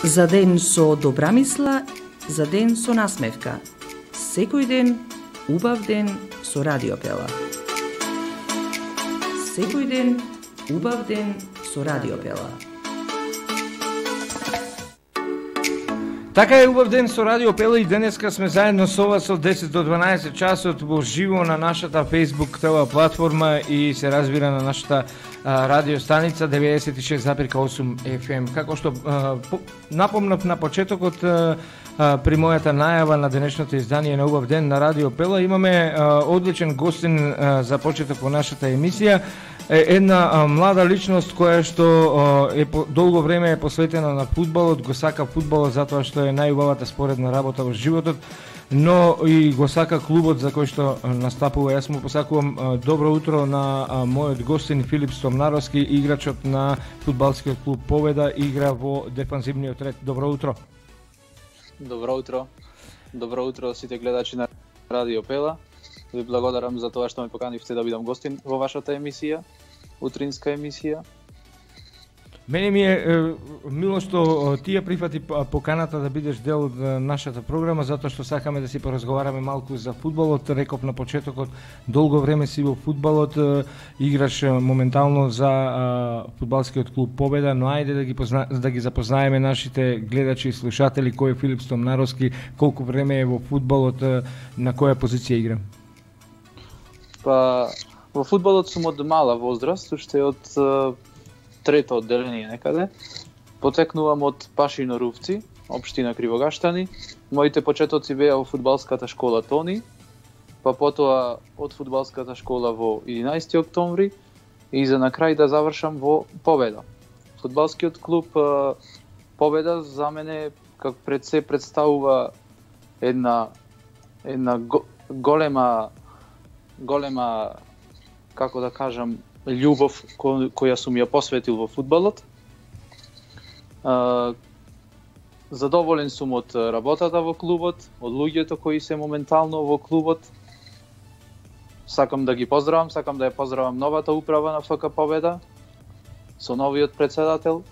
За ден со добра мисла, за ден со насмевка. Секој ден, убав ден со Радио Пела. Секој ден, убав ден со Радио Пела. Така е, убав ден со Радио Пела и денеска сме заедно со вас од 10 до 12 часот во живо на нашата Facebook ТВ платформа и се разбира на нашата радио станица 96,8 FM. Како што напомнав на почетокот при мојата најава на денешното издание на Убав ден на Радио Пела, имаме одличен гостин за почеток во нашата емисија. Една млада личност која што долго време е посветена на фудбалот, го сака фудбалот затоа што е најубавата споредна работа во животот, но и го сака клубот за кој што настапува. Јас му посакувам добро утро на мојот гостин Филип Стомнаровски, играчот на фудбалскиот клуб Победа, игра во дефанзивниот ред. Добро утро. Добро утро. Добро утро сите гледачи на Радио Пела. Ви благодарам за тоа што ме поканивте да бидам гостин во вашата емисија, утринска емисија. Мене ми е мило што ти ја прифати поканата да бидеш дел од нашата програма, затоа што сакаме да си поразговараме малку за фудбалот. Реков на почетокот, долго време си во фудбалот, играш моментално за фудбалскиот клуб Победа, но ајде да ги запознаеме нашите гледачи и слушатели кој е Филип Стомнаровски, колку време е во фудбалот, на која позиција игра? Па, во фудбалот сум од мала возраст, уште од трето одделение некаде. Потекнувам од Пашино Рувци, општина Кривогаштани. Моите почетоци беа во фудбалската школа Тони, па потоа од фудбалската школа во 11 октомври и за на крај да завршам во Победа. Фудбалскиот клуб Победа за мене како пред се представува една голема, како да кажам, љубов која сум ја посветил во фудбалот. Задоволен сум од работата во клубот, од луѓето кои се моментално во клубот. Сакам да ги поздравам, сакам да ја поздравам новата управа на ФК Победа со новиот претседател.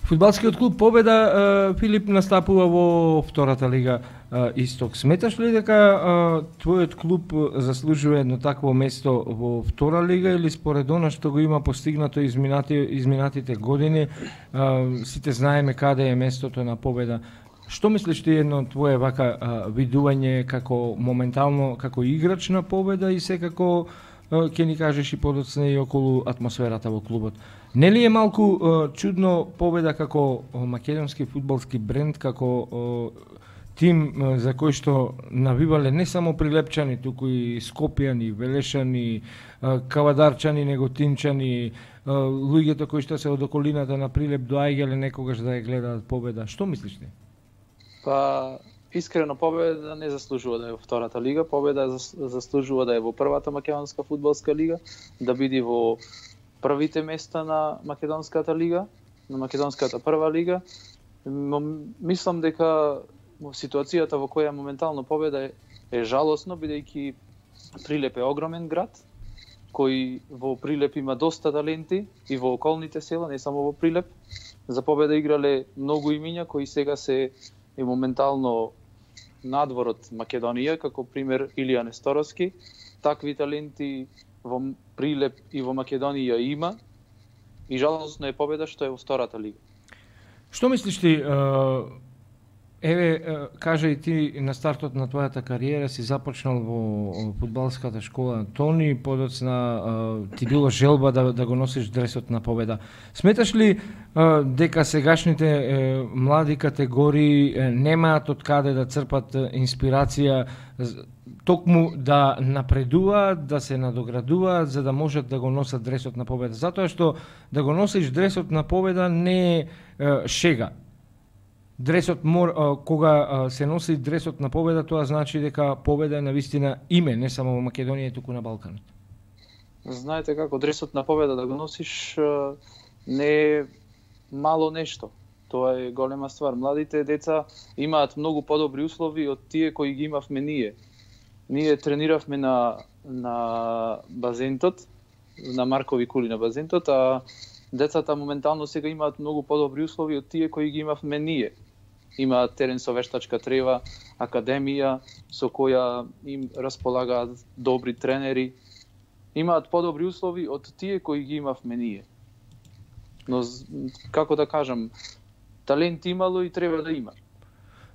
Фудбалскиот клуб Победа, Филип, настапува во втората лига Исток. Сметаш ли дека твојот клуб заслужува едно такво место во втора лига или според она што го има постигнато изминатите години, сите знаеме каде е местото на Победа? Што мислиш ти едно твое вака видување како моментално како играч на Победа и секако ќе ни кажеш и подоцна и околу атмосферата во клубот? Нели е малку чудно Победа како македонски фудбалски бренд, како тим за кој што навивале не само прилепчани, туку и скопјани, велешани, кавадарчани, неготинчани, луѓето кои што се од околината на Прилеп доаѓале некогаш да ја гледаат Победа. Што мислиш ти? Па, искрено Победа не заслужува да е во втората лига. Победа заслужува да е во првата македонска фудбалска лига, да биде во првите места на македонската лига, на македонската прва лига. Мислам дека ситуацијата во која моментално Победа е жалосно, бидејќи Прилеп е огромен град, кој во Прилеп има доста таленти и во околните села, не само во Прилеп. За Победа играле многу имиња кои сега се и моментално надвор од Македонија, како пример Илија Несторовски. Такви таленти во Прилеп и во Македонија има и жалосно е Победа што е во втората лига. Што мислиш ти? Еве, кажа и ти на стартот на твојата кариера си започнал во фудбалската школа Тони, подоцна ти било желба да го носиш дресот на Победа. Сметаш ли дека сегашните млади категории немаат од каде да црпат инспирација токму да напредуваат, да се надоградуваат за да можат да го носат дресот на Победа? Затоа што да го носиш дресот на Победа не е шега. Дресот кога се носи дресот на Победа, тоа значи дека Победа е навистина име, не само во Македонија, туку на Балканот. Знаете како, дресот на Победа да го носиш не е мало нешто. Тоа е голема ствар. Младите деца имаат многу подобри услови од тие кои ги имавме ние. Ние трениравме на базентот, на Маркови кули на базентот, а децата моментално сега имаат многу подобри услови од тие кои ги имавме ние. Имаат терен со вештачка трева, академија со која им располагаат добри тренери. Имаат подобри услови од тие кои ги имавме ние. Но, како да кажам, талент имало и треба да има.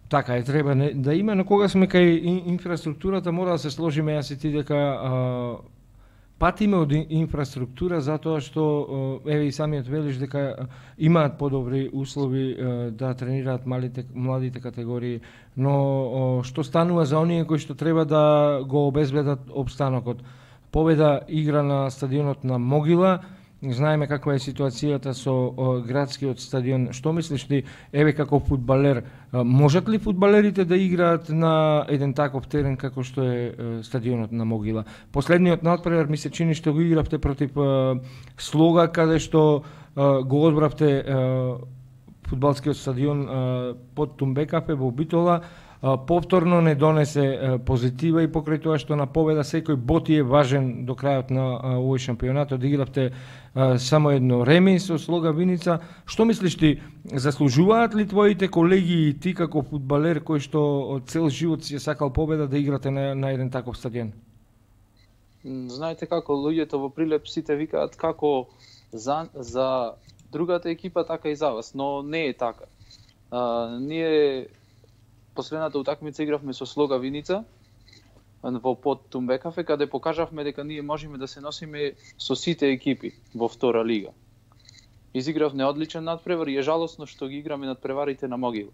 Така е, треба да има, но кога сме кај инфраструктурата, мора да се сложиме јас и ти дека патиме од инфраструктура затоа што еве и самиот велиш дека имаат подобри услови да тренираат младите категории, но што станува за оние кои што треба да го обезбедат опстанокот? Победа игра на стадионот на Могила. Знаеме каква е ситуацијата со градскиот стадион. Што мислиш ти, еве како фудбалер, можат ли фудбалерите да играат на еден таков терен како што е стадионот на Могила? Последниот натпревар ми се чини што го игравте против Слога, каде што го одбравте фудбалскиот стадион под Тумбекафе во Битола. Повторно не донесе позитива и покрај тоа што на победа секој бот е важен до крајот на овој шампионат. Одигравте само едно реми со Слога Виница. Што мислиш ти, заслужуваат ли твоите колеги и ти како фудбалер кој што цел живот си е сакал победа да играте на еден таков стадион? Знаете како луѓето во Прилеп сите викаат како за другата екипа така и за вас, но не е така. Ние последната утакмица игравме со Слога Виница во под Тумбекафе, каде покажавме дека ние можеме да се носиме со сите екипи во втора лига. Изигравме одличен надпревар и е жалосно што ги играме надпреварите на Могила.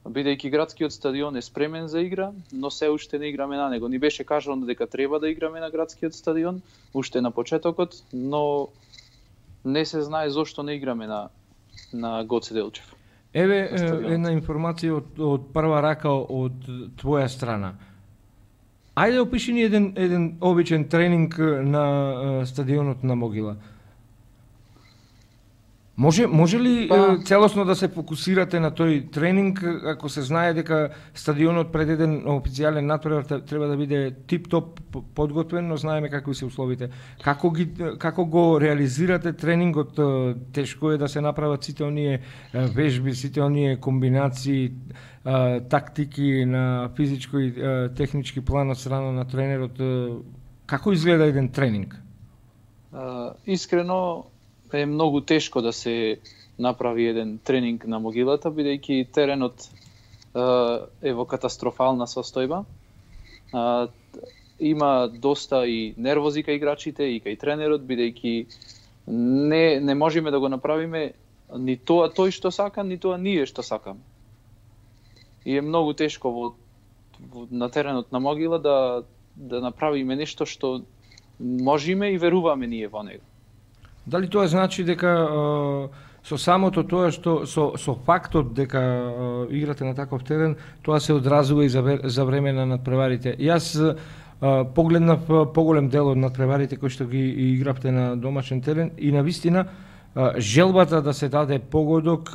Бидејќи градскиот стадион е спремен за игра, но се уште не играме на него. Ни беше кажано дека треба да играме на градскиот стадион, уште на почетокот, но не се знае зошто не играме на Гоце Делчев. Еве една информација од прва рака од твоја страна. Ајде опиши ни еден обичен тренинг на стадионот на Могила. Може ли целосно да се фокусирате на тој тренинг, ако се знае дека стадионот пред еден официјален натпревар треба да биде тип-топ подготвен, но знаеме какви се условите. Како го реализирате тренингот? Тешко е да се направат сите оние вежби, сите оние комбинации, тактики на физичко и технички план од страна на тренерот. Како изгледа еден тренинг? Искрено е многу тешко да се направи еден тренинг на Могилата, бидејќи теренот е во катастрофална состојба. Има доста и нервози кај играчите и кај тренерот, бидејќи не можеме да го направиме ни тоа тој што сака, ни тоа ние што сакаме. И е многу тешко на теренот на Могила да направиме нешто што можеме и веруваме ние во него. Дали тоа значи дека со самото тоа што со фактот дека играте на таков терен, тоа се одразува и за време на надпреварите? Јас погледнав поголем дел од надпреварите кои што ги игравте на домашен терен и навистина желбата да се даде погодок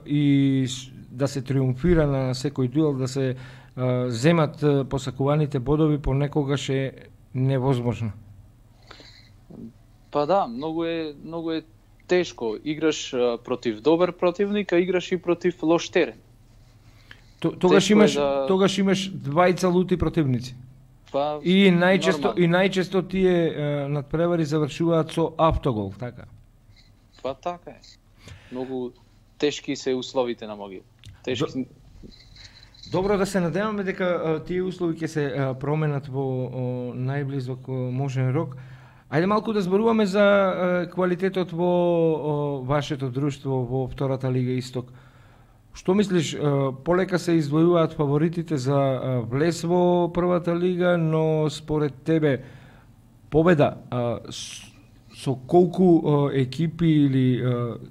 и да се триумфира на секој дуел, да се земат посакуваните бодови понекогаш е невозможно. Па да, многу е тешко. Играш против добар противник, а играш и против лош терен. Тогаш имаш двајца лути противници. Па, и најчесто тие надпревари завршуваат со автогол, така? Па така е. Многу тешки се условите на Могила. Добро, да се надеваме дека тие услови ќе се променат во најблизок можен рок. Ајде малку да зборуваме за квалитетот во вашето друштво во втората Лига Исток. Што мислиш, полека се издвојуваат фаворитите за влез во првата лига, но според тебе победа со колку екипи или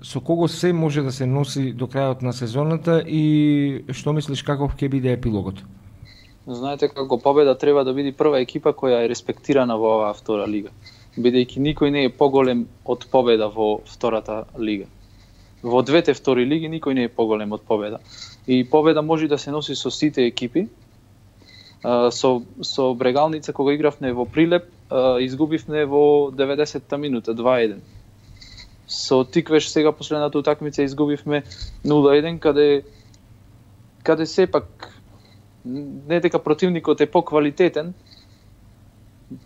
со кого се може да се носи до крајот на сезоната и што мислиш каков ќе биде епилогот? Знаете како победа треба да биде прва екипа која е респектирана во оваа втора лига, бидејќи никој не е поголем од победа во втората лига. Во двете втори лиги никој не е поголем од победа. И победа може да се носи со сите екипи. Со Брегалница кога игравме во Прилеп, изгубивме во 90-та минута 2-1. Со Тиквеш сега последната утакмица изгубивме 0-1 каде сепак не дека противникот е поквалитетен,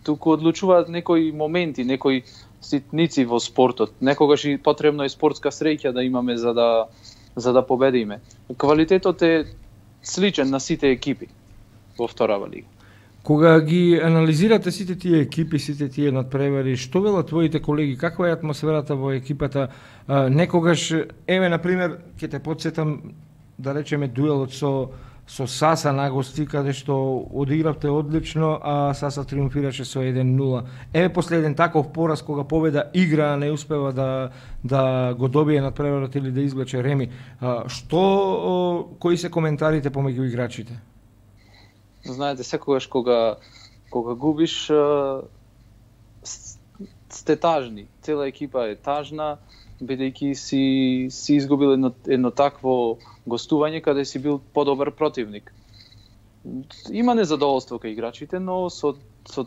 туку одлучуваат некои моменти, некои ситници во спортот. Некогаш и потребно е спортска среќа да имаме за да победиме. Квалитетот е сличен на сите екипи во вторава лига. Кога ги анализирате сите тие екипи, сите тие надпревари, што велат твоите колеги, каква е атмосферата во екипата? Некогаш, на пример, ќе те потсетам да речеме дуелот со Саса на гости, каде што одигравте одлично, а Саса триумфираше со 1-0. После еден таков пораз, кога победа игра, не успева да го добие надпреварот или да извлече реми. Кои се коментарите помеѓу играчите? Знаете, секогаш кога губиш, сте тажни. Цела екипа е тажна, бидејќи си изгубил едно такво гостување каде си бил подобар противник. Има незадоволство кај играчите, но со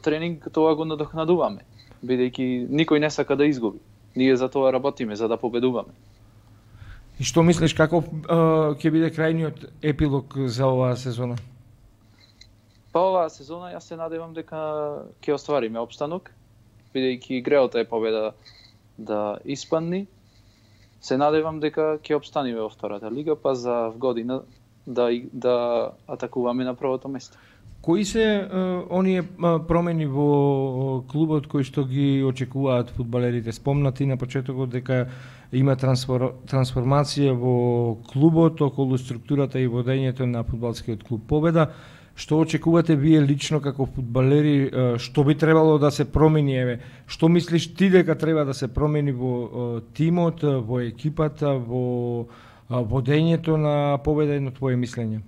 тренинг тоа го надокнадуваме, бидејќи никој не сака да изгуби. Ние за тоа работиме, за да победуваме. И што мислиш, каков ќе биде крајниот епилог за оваа сезона? Па оваа сезона јас се надевам дека ќе оствариме опстанок, бидејќи греото е победа да испадни. Се надевам дека ќе опстаниме во втората лига, па за година да атакуваме на првото место. Кои се оние промени во клубот кои што ги очекуваат фудбалерите? Спомнати на почетокот дека има трансформација во клубот околу структурата и водењето на фудбалскиот клуб Победа. Што очекувате вие лично како фудбалери, што би требало да се промени? Што мислиш ти дека треба да се промени во тимот, во екипата, во водењето на Победа, едно твое мислење?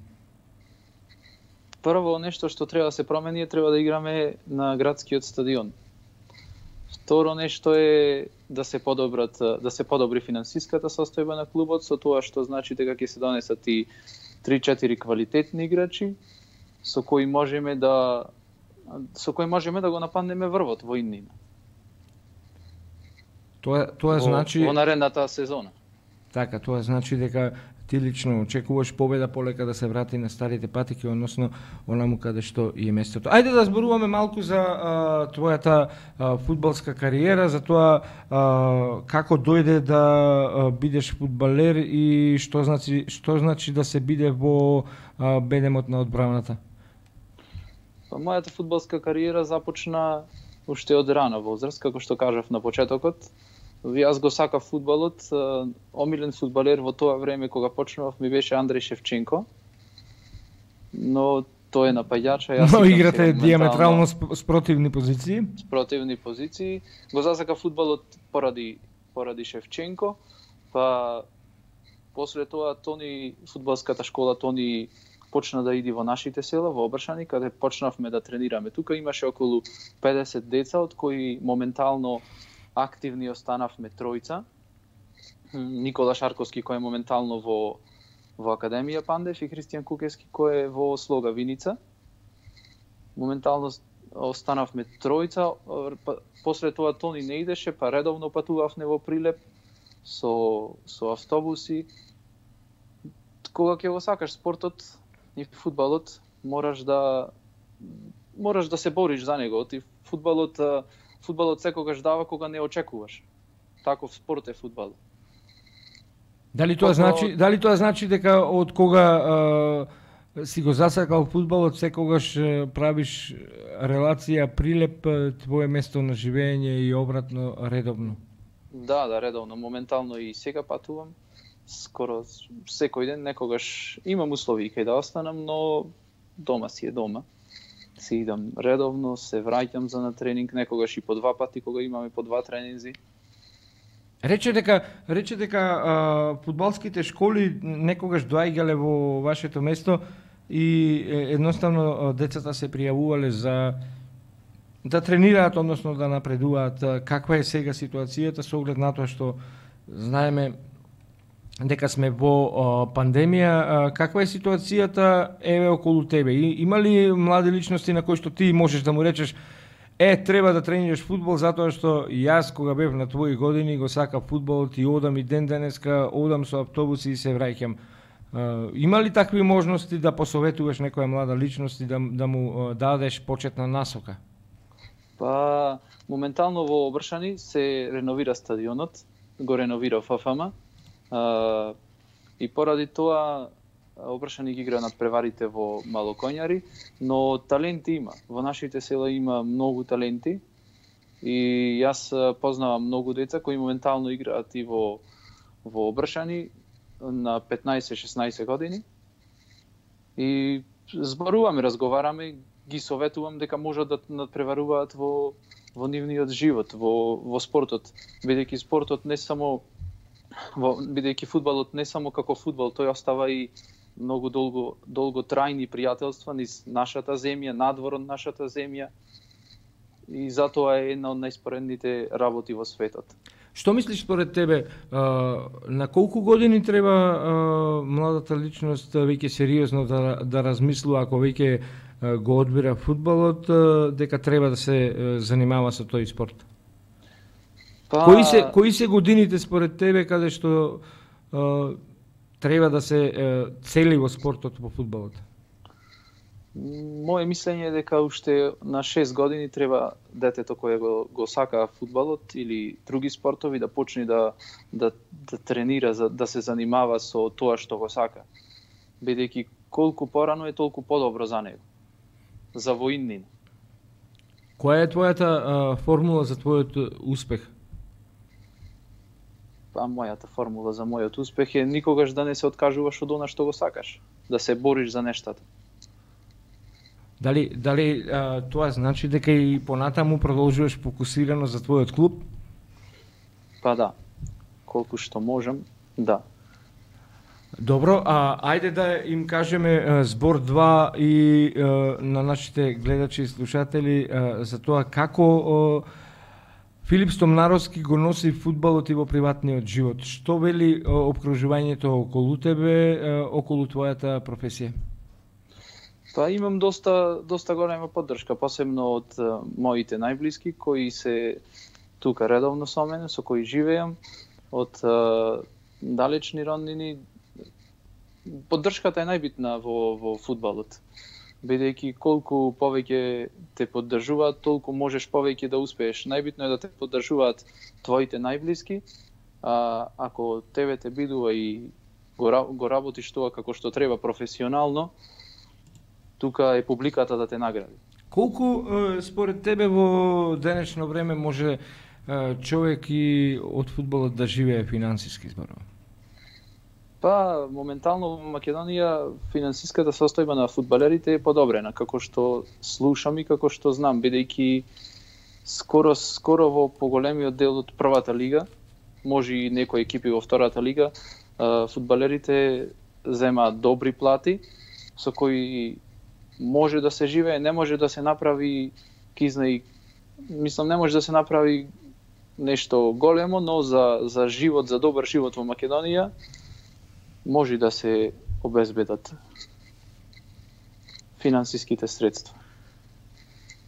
Прво нешто што треба да се промени е треба да играме на градскиот стадион. Второ нешто е да се подобри финансиската состојба на клубот, со тоа што значи дека ќе се донесат и 3-4 квалитетни играчи со кои можеме да го нападнеме врвот во иднина. Тоа значи во наредната сезона. Така, тоа значи дека ти лично очекуваш Победа полека да се врати на старите патики, односно онаму каде што и е местото. Ајде да зборуваме малку за твојата фудбалска кариера, за тоа како дојде да бидеш фудбалер и што значи да се биде во бедемот на одбраната. Мојата фудбалска кариера започна уште од рана возраст, како што кажав на почетокот. Јас го сакав фудбалот. Омилен фудбалер во тоа време кога почнував ми беше Андреј Шевченко. Но тој е напаѓач, но играте диаметрално спротивни позиции. Спротивни позиции. Го засакав фудбалот поради Шевченко, па после тоа фудбалската школа Тони почна да иди во нашите села, во Обршани, каде почнавме да тренираме. Тука имаше околу 50 деца, од кои моментално активни останавме тројца. Никола Шарковски, кој е моментално во Академија Пандев, и Христијан Кукевски, кој е во Слога Виница. Моментално останавме тројца. После тоа Тони не идеше, па редовно патувавме во Прилеп со автобуси. Кога ќе го сакаш спортот и фудбалот, мораш да се бориш за него. Ти фудбалот секогаш дава кога не очекуваш. Таков спорт е фудбал. Дали тоа значи дека од кога си го засакал фудбалот, секогаш правиш релација Прилеп, твое место на живење и обратно редовно? Да, редовно. Моментално и сега патувам. Скоро секој ден, некогаш имам услови кај да останам, но дома си е дома. Си идам редовно, се враќам за на тренинг, некогаш и по 2 пати, кога имаме по 2 тренинзи. Рече дека фудбалските школи некогаш доаѓале во вашето место и едноставно децата се пријавувале за да тренираат, односно да напредуваат. Каква е сега ситуацијата со оглед на тоа што знаеме дека сме во пандемија? Каква е ситуацијата околу тебе? Има ли млади личности на кои што ти можеш да му речеш треба да тренираш фудбал затоа што јас кога бев на твои години го сакав фудбалот и одам и ден денеска, одам со автобуси и се враќам. Има ли такви можности да посоветуваш некоја млада личност и да му дадеш почетна насока? Па, моментално во Обршани се реновира стадионот, го реновира ФФМ, и поради тоа Обршани ги игра надпреварите во Малокоњари, но таленти има. Во нашите села има многу таленти и јас познавам многу деца кои моментално играат и во Обршани на 15-16 години. И зборуваме, разговараме, ги советувам дека можат да надпреваруваат во нивниот живот, во спортот, бидејќи спортот не само бидејќи фудбалот не само како фудбал, тој остава и многу долго трајни пријателства низ нашата земја, надвор од нашата земја, и затоа е една од најспоредните работи во светот. Што мислиш според тебе, на колку години треба младата личност веќе сериозно да размислува, ако веќе го одбира фудбалот, дека треба да се занимава со тој спорт? Кои се годините според тебе каде што треба да се цели во спортот во фудбалот? Моje мислење е дека уште на 6 години треба детето кое го сака фудбалот или други спортови да почне да тренира, да се занимава со тоа што го сака. Бидејќи колку порано е толку подобро за него. За воиннин. Која е твојата формула за твојот успех? Па мојата формула за мојот успех е никогаш да не се откажуваш од она што го сакаш, да се бориш за нештата. Дали тоа значи дека и понатаму продолжуваш фокусирано за твојот клуб? Па да, колку што можем, да. Добро, ајде да им кажеме збор 2 и на нашите гледачи и слушатели за тоа како Филип Стомнаровски го носи фудбалот и во приватниот живот. Што вели опкружувањето околу тебе, околу твојата професија? Па имам доста голема поддршка, посебно од моите најблиски кои се тука редовно со мене, со кои живеам, од далечни роднини. Поддршката е најбитна во фудбалот. Бидејќи колку повеќе те поддржуваат, толку можеш повеќе да успееш. Најбитно е да те поддржуваат твоите најблиски, ако тебе те бидува и го работиш тоа како што треба професионално, тука е публиката да те награди. Колку според тебе во денешно време може човек и од фудбалот да живее финансиски зборува? Па, моментално во Македонија финансиската состојба на фудбалерите е подобрена, како што слушам и како што знам, бидејќи скоро во поголемиот дел од првата лига, може и некои екипи во втората лига, фудбалерите земаат добри плати, со кои може да се живее, не може да се направи мислам не може да се направи нешто големо, но за живот, за добар живот во Македонија може да се обезбедат финансиските средства.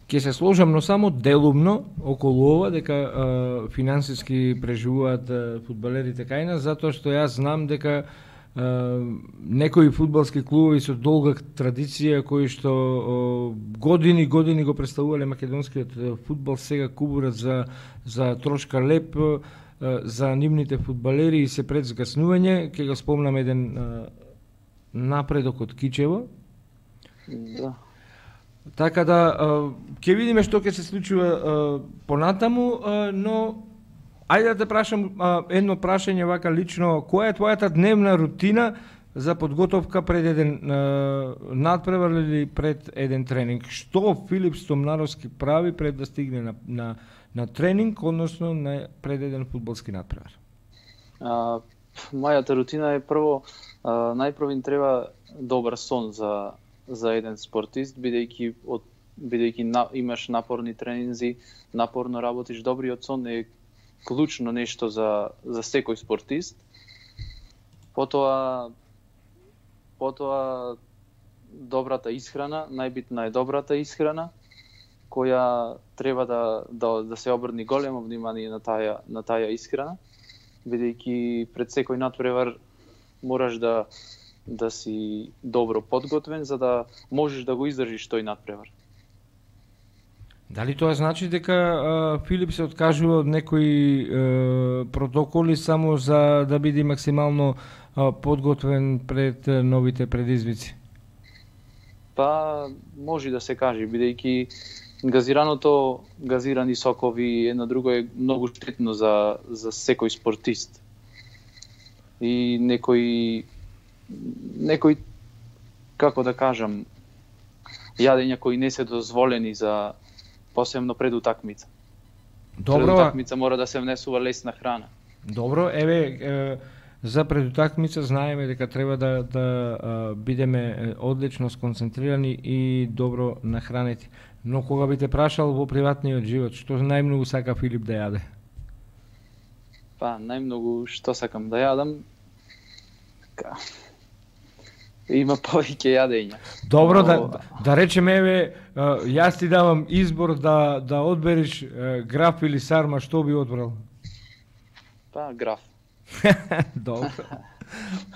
Ќе се сложам, но само делумно околу ова, дека финансиски преживуваат фудбалерите кај нас, затоа што јас знам дека некои фудбалски клубови со долга традиција кои што години го представувале македонскиот фудбал, сега кубурат за трошка леп за нивните фудбалери и се пред згаснување. Ќе го спомнам еден напредок од Кичево. Да. Така да ќе видиме што ќе се случува понатаму, но ајде да те прашам едно прашање вака лично, која е твојата дневна рутина за подготовка пред еден надпревар или пред еден тренинг? Што Филип Стомнаровски прави пред да стигне на тренинг, односно пред еден фудбалски надпревар? Мојата рутина е најпрво им треба добар сон за еден спортист, бидејќи имаш напорни тренинзи, напорно работиш, добриот сон е клучно нешто за секој спортист. Потоа добрата исхрана, најбитна е добрата исхрана, која треба да се обрни големо внимание на таа исхрана, бидејќи пред секој натпревар мораш да си добро подготвен за да можеш да го издржиш тој натпревар. Дали тоа значи дека Филип се откажува од некои протоколи само за да биде максимално подготвен пред новите предизвици? Па може да се каже, бидејќи газирани сокови едно друго е многу штетно за секој спортист. И некои како да кажам, јадења кои не се дозволени за посебно пред утакмица. Добро. Пред утакмица мора да се внесува лесна храна. Добро, за пред утакмица знаеме дека треба да бидеме одлично сконцентрирани и добро нахранети. Но кога би те прашал во приватниот живот, што најмногу сака Филип да јаде? Па, најмногу што сакам да јадам, има повеќе јадења. Добро, да речеме, јас ти давам избор да одбереш граф или сарма, што би одбрал? Па, граф. Добро.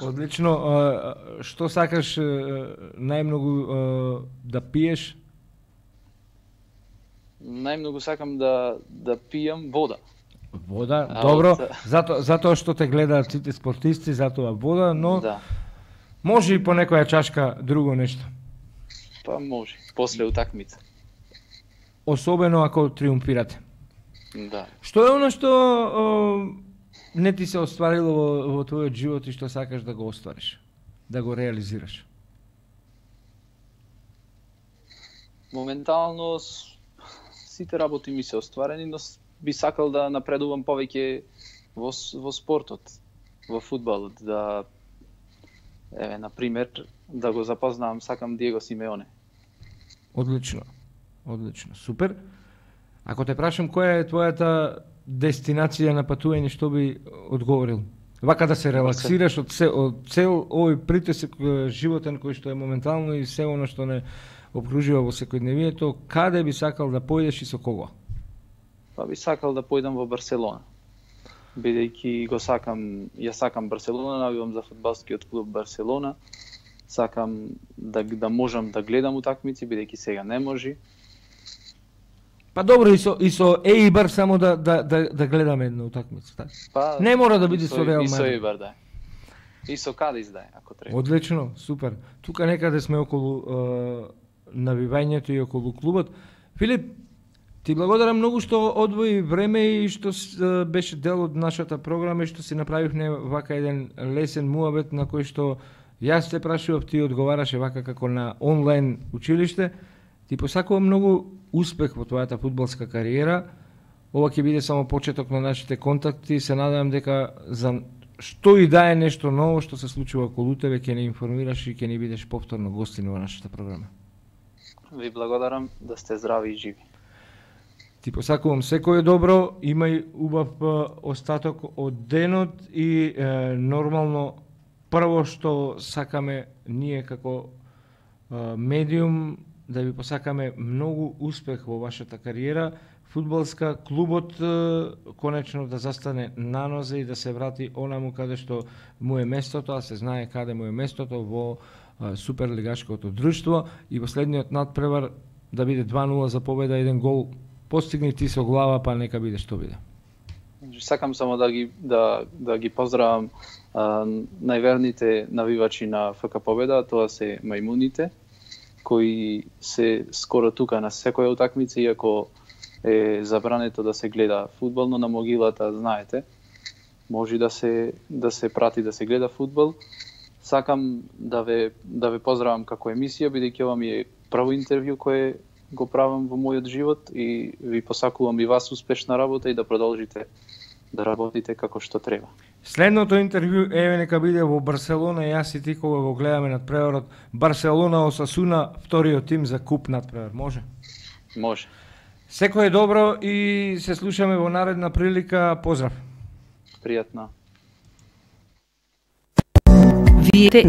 Одлично. Што сакаш најмногу да пиеш? Најмногу сакам да пијам вода. Вода, добро. Затоа што те гледаат сите спортисти, затоа вода, но Да. може и по некоја чашка друго нешто. Па може, после утакмица. Особено ако триумфирате. Да. Што е оно што не ти се остварило во твојот живот и што сакаш да го оствариш, да го реализираш? Моментално сите работи ми се остварени, но би сакал да напредувам повеќе во спортот, во фудбалот, на пример, да го запознавам, сакам Диего Симеоне. Одлично, супер. Ако те прашам која е твојата дестинација на патување, што би одговорил? Вака да се релаксираш од цел овој притисок животен кој што е моментално и се оно што не обкружува во секојдневието, каде би сакал да појдеш и со кого? Па би сакал да појдам во Барселона. Бидејќи јас сакам Барселона, навивам за фудбалскиот клуб Барселона. Сакам да можам да гледам утакмици, бидејќи сега не може. Па добро, и со Ејбар само да гледаме една утакмица, така? Па, не мора да биде со Реал Мадрид. И со Мадрид. Ејбар, да. И со Кадис, да, ако треба. Одлично, супер. Тука некаде сме околу навивањето и околу клубот. Филип, ти благодарам многу што одвои време и што беше дел од нашата програма и што си направивме вака еден лесен муабет на кој што јас те прашував, ти одговараше вака како на онлайн училиште. Ти посакувам многу успех во твојата фудбалска кариера. Ова ќе биде само почеток на нашите контакти. Се надевам дека за што и да е нешто ново што се случува околу тебе, ќе не информираш и ќе ни бидеш повторно гостин во нашата програма. Ви благодарам, да сте здрави и живи. Ти посакувам секое добро, имај убав остаток од денот и нормално прво што сакаме ние како медиум да ви посакаме многу успех во вашата кариера, фудбалска, клубот конечно да застане на нозе и да се врати онаму каде што му е местото, а се знае каде му е местото во суперлигашкото друштво и последниот надпревар да биде 2-0 за победа, 1 гол постигни ти со глава, па нека биде што биде. Сакам само да ги поздравам најверните навивачи на ФК Победа, тоа се мајмуните, кои се скоро тука на секоја утакмица, иако е забрането да се гледа фудбал, но на могилата, знаете, може да се прати да се гледа фудбал. Сакам да ве поздравам како емисија, бидејќи ова ми е прво интервју кое го правам во мојот живот и ви посакувам и вас успешна работа и да продолжите да работите како што треба. Следното интервју нека биде во Барселона, јас и ти кога го гледаме надпреварот Барселона Осасуна, вториот тим за куп надпревар, може? Може. Секое добро и се слушаме во наредна прилика. Поздрав. Пријатно. Вие